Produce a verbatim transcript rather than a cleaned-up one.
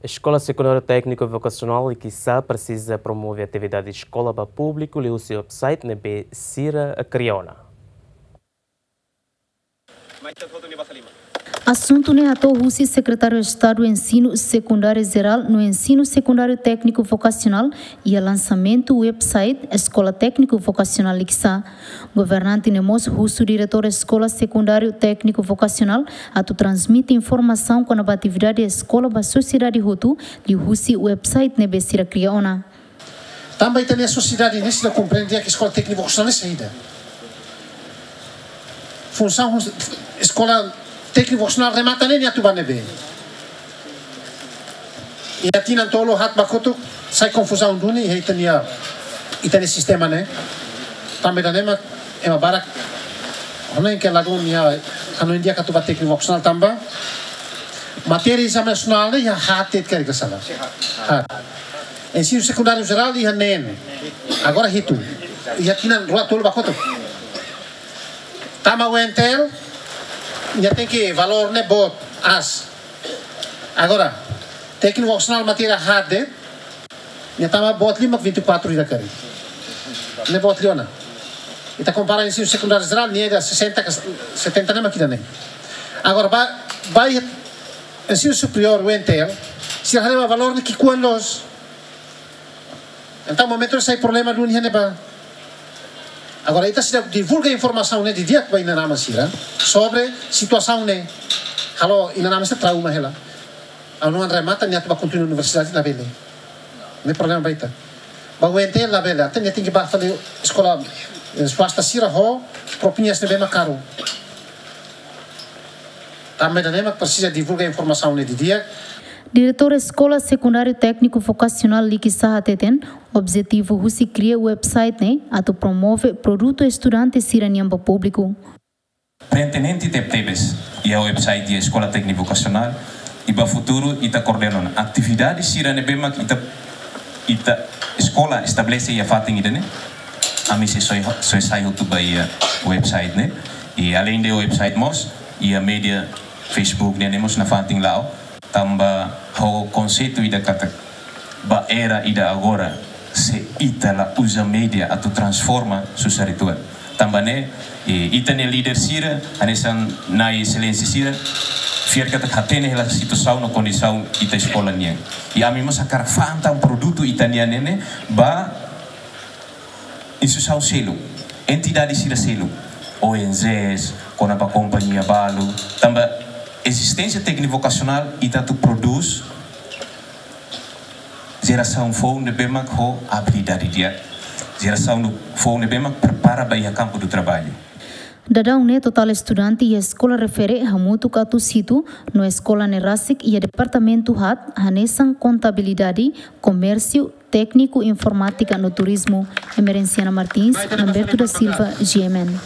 Eskola Sekundáriu Tékniku Vokasionál Likisá presiza promove atividade eskola ba públiku liuhusi website ne'ebé sira kria ona. Asuntu ne'e hato'o husi Sekretáriu Estadu Ensinu Sekundáriu Jerál no Ensinu Sekundáriu Tékniku Vokasionál iha lansamentu website Eskola Tékniku Vokasionál Likisá. Governante ne'e mós husu diretór Eskola Sekundáriu Tékniku Vokasionál atu transmite informasaun kona-ba atividade eskola ba sosiedade hotu liuhusi website ne'ebé sira kria ona. Tanba ita-nia sosiedade ne'e sira komprende katak eskola tékniku vokasionál ne'e saida. Funsaun hus-, eskola tékniku vokasionál remata ne'e nia atu ba ne'ebé. Iha tinan tolu haat ba kotuk sai konfuzaun duni iha ita-nia, ita-nia sistema ne'e. Tanba ida-ne'e mak ema barak hanoin katak ladún nia hanoin di'ak atu ba tékniku vokasionál tanba matéria ezame nasionál ne'e iha haat de'it karik la sala. Haat. Ensinu sekundáriu jerál iha neen. Agora hitu. Iha tinan rua tolu ba kotuk. Tama U N T L, nia tenke valór ne'e boot, aas. Agora, tékniku vokasionál matéria haat de'it, nia tama boot lima vinte e quatro ida karik. Ne'e boot liu ona. Ita kompara ensinu sekundáriu jerál, nia ida sesenta ka setenta ne'e mak ida-ne'e. Agora, ba, ba iha ensinu superiór U N T L, sira haree ba valór ne'e ki'ikoan loos. Entaun, momentu ne'e sai problema duni iha ne'ebá. Agora, ita seidauk divulga informasaun ne'e didi'ak ba inan-aman sira sobre situasaun ne'e. Halo inan-aman sira trauma hela. Ha'u-nia oan remata, nia atu ba kontinua universidade labele. Ne'e problema ba ita. Ba U N T L labele, até nia tenke ba fali eskola, eh, swasta sira ho propinas ne'ebé mak karun. Tanba ida-ne'e mak presiza divulga informasaun ne'e didi'ak. Diretór Eskola Sekundáriu Tékniku Vokasionál Likisá hateten, objetivu husi kria website ne'e atu promove produtu estudante sira-nian ba públiku. Pertinente tebetebes iha website iha Eskola Tékniku Vokasionál, i ba futuru ita koordena ona atividade sira ne'ebé mak ita, ita eskola estabelese iha fatin ida-ne'e. Ami sei soe, soe sai hotu ba iha website ne'e. I além de website mós, iha média Facebook ne'e, ne'e mós nafatin la'o. Tanba ho konseitu ida katak ba era ida agora, se ita la uza média atu transforma, susar uitoan. Tanba ne'e, eh, ita-nia líder sira, hanesan Nai Exelénsia sira, fiar katak hatene hela situasaun no kondisaun ita eskola nian. I ami mós hakarak fa'an tan produtu ita-nian ne'e ba instituisaun seluk, entidade sira seluk, O N Gs, kona-ba kompañia balu, tanba ezisténsia tékniku vokasionál ita atu prodús jerasaun foun ne'ebé mak ho abilidade di'ak, jerasaun foun ne'ebé mak prepara ba iha kampu do traballu. Daudaun ne'e totál estudante iha eskola refere hamutuk atus hitu, no eskola ne'e rasik iha departamentu haat, hanesan kontabilidade, komérsiu, tékniku informátika no turizmu. Emerenciana Martins, Lamberto da Silva, G M N.